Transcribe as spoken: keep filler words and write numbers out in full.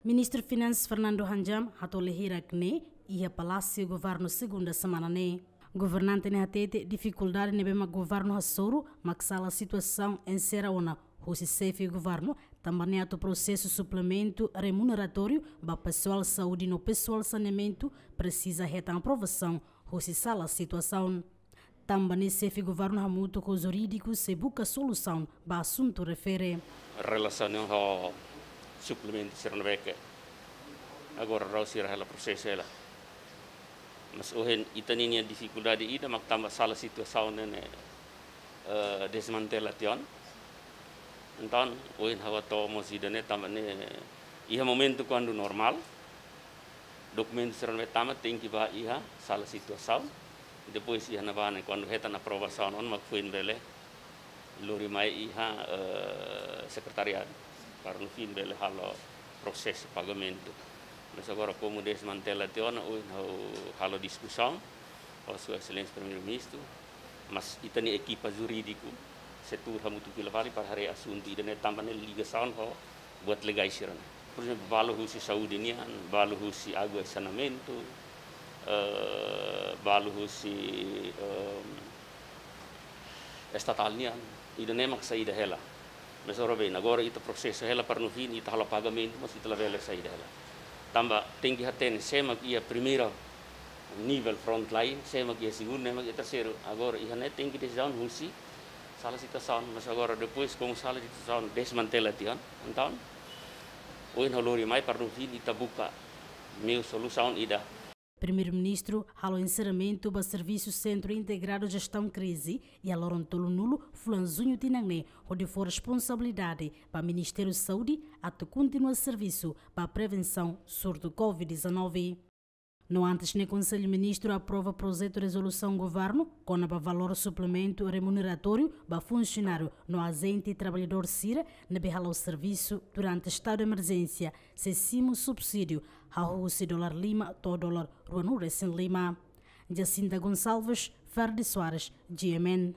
Ministru Finansas Fernando Hanjam hato'o lehira kne iha Palásiu Governu Segunda semana ne'e. Governante ne'e hatete difikuldade ne'ebé mak Governu hasoru mak sala situasaun enserra ona husi Xefe Governu, tanba ne'e atu prosesu suplementu remuneratóriu ba pesoál saúde no pesoál saneamentu presiza hetan aprovasaun husi sala situasaun. Tanba ne'e Xefe Governu hamutuk ho jurídiku sei buka solusaun ba asuntu refere. Relasiona ho suplementu sira ne'ebé ke agora rau sira hela prosesu hela. Mas ohin ita-nia difikuldade ida mak tanba sala situasaun ne'e, eh, desmantela tiha ona. Entaun, ohin ha'u hato'o mós ida-ne'e tanba ne'e iha momentu kuandu normál, dokumentu sira ne'ebé tama tenke ba iha sala situasaun. Depois iha ne'ebá ne'e kuandu hetan aprovasaun ona mak foin bele lori mai iha, eh, sekretariadu para no fim bele halo prosesu pagamentu. Mas agora komu desmantela tiha ona, ohin ha'u halo diskusaun ho Sua Exelénsia Primeiru-Ministru, mas ita-nia ekipa jurídiku setór hamutuk fila fali para haree asuntu ida-ne'e tanba ne'e ligasaun ho buat legais sira-ne'e. Por ezemplu, balu husi saúde nian, balu husi água e saneamentu, eh, balu husi, eh, estatál nian, ida-ne'e mak saida hela. Mas ora bem, agora ita prosesu hela para no fim ita halo pagamentu, mas ita labele saida hela. Tanba tenke hatene sé mak iha primeira nivel frontline, sé mak iha segundu, ne'e mak iha terseiru. Agora iha ne'e tenke desizaun husi sala situasaun, mas agora depois komu sala situasaun desmantela tiha ona, entaun ohin ha'u lori mai para no fim ita buka meiu solusaun ida. Primeiru-Ministru halo enserramentu ba servisu Sentru Integradu Jestaun Krize iha loron tolunulu fulan Juñu tinan ne'e, hodi fó responsabilidade ba Ministériu Saúde atu kontinua servisu ba prevensaun surtu covid dezanove. No antes ne'e Konsellu Ministru aprova projetu rezolusaun Governu kona-ba valór suplementu remuneratóriu ba funsionáriu no ajente traballadór sira ne'ebé hala'o servisu durante estadu de emerjénsia, sei simu subsídiu hahú husi dolar lima to'o dolar ruanulu-resin-lima. Jacinta Gonçalves, Ferdi Soares, G M N.